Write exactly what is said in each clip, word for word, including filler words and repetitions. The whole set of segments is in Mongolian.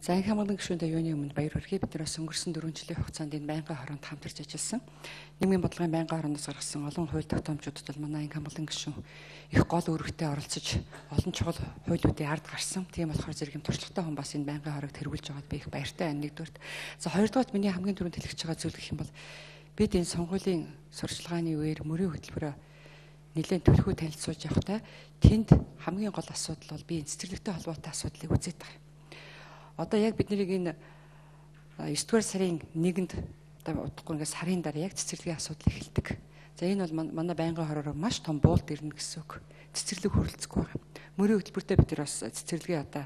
За энэ хамгаалалтын гишүүндээ юуны өмнө баяр хүргэе. Бид нар бас өнгөрсөн дөрвөн жилийн хугацаанд энэ байнгын хороонд хамтарч ажилласан. Нийгмийн бодлогын байнгын хорооноос гаргасан олон хууль тогтоомжуудад бол манай энэ хамгаалалтын гишүүн их гол үүрэгтэй оролцож олон чухал хуулиудын ард гарсан. Тийм болохоор зэрэг юм туршлагатай хүн бас энэ байнгын хороог тэргүүлж байгаад би их баяртай байна нэгдүгээрт. За хоёрдугаарт миний хамгийн түрүүнд хэлчихэж байгаа зүйл гэх юм бол бид энэ сонгуулийн сурчлагын үеэр мөрийн хөтөлбөрөөр нэлээд төлхөө танилцуулж явахдаа тэнд хамгийн гол асуудал бол би энэ цэцэрлэгтэй холбоотой асуудлыг үзээд байгаа. Одоо яг бид нарыг энэ есдүгээр сарын нэгэнд одоо удахгүй ингээд сарын дараа яг цэцэрлэгийн асуудал эхэлдэг. За энэ бол манай байнгын хороор маш том буулт ирнэ гэсэн үг. Цэцэрлэг хөрөлцөхгүй байгаа. Мөрийн хөтөлбөртөө бид нар бас цэцэрлэгийн одоо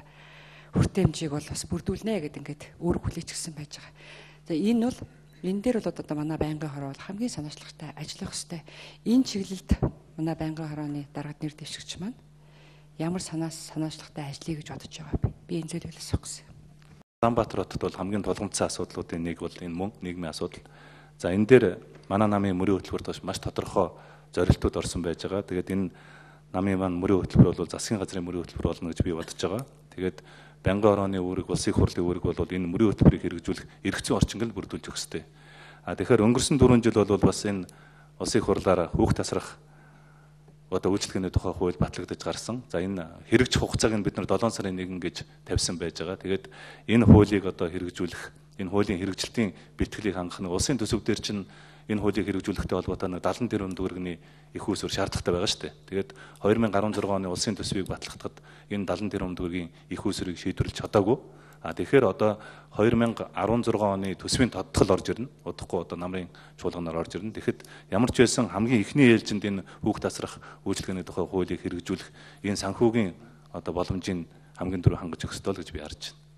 хүртээмжийг бол бас бүрдүүлнэ гэдэг ингээд үүрэг хүлээчихсэн байж байгаа. За энэ бол энэ дээр бол одоо манай байнгын хороо бол хамгийн санаачлагтай ажиллах ёстой. Энэ чиглэлд манай байнгын хорооны даргад нэр дэвшигч маань ямар санаас санаачлагтай ажиллая гэж бодож байгаа би. Би энэ зүйлээс асуух гэсэн. Улаанбаатар хотод бол хамгийн тулгымцсан асуудлуудын нэг бол энэ мөн нийгмийн асуудал. За энэ дээр манай намын мөрийн хөтөлбөрт маш тодорхой зорилтууд орсон байж байгаа. Тэгээд энэ намын маань мөрийн хөтөлбөр бол засгийн газрын мөрийн хөтөлбөр болно гэж би бодож байгаа. Тэгээд байнгын хорооны үүрэг, улсын хурлын үүрэг бол энэ мөрийн хөтөлбөрийг хэрэгжүүлэх эргэцэн орчинг л бүрдүүлж өгөх ёстой. А тэгэхээр өнгөрсөн дөрвөн жил бол бас энэ улсын хурлаараа хүүхд тасрах одоо үйлчлэгээний тухай хууль батлагдаж гарсан. За энэ хэрэгжих хугацааг нь бид нар долоон сарын нэгэн гэж тавьсан байж байгаа. Тэгээд энэ хуулийг одоо хэрэгжүүлэх, энэ хуулийн хэрэгжилтийн бэлтгэлийг хангах нь улсын төсөв дээр чинь энэ хуулийг хэрэгжүүлэхтэй холбоотой дадлан тэрбум төгрөгийн их үүсвэр шаардлагатай байгаа шүү дээ. Тэгээд хоёр мың гаруй зургаан оны улсын төсвийг батлахад энэ дадлан тэрбум төгрөгийн их үүсвэрийг шийдвэрлэж чадаагүй. А тэгэхээр одоо хоёр мың арван зургаан оны төсвийн тодтол орж ирнэ. Удахгүй одоо намрын чуулганаар орж ирнэ. Тэгэхэд ямар ч байсан хамгийн ихний ээлжинд энэ хүүхд тасрах үйлчлэгээний тухай хуулийг хэрэгжүүлэх энэ санхүүгийн одоо боломжийн хамгийн түрүү хангаж өгөх ёстой л гэж би харж байна.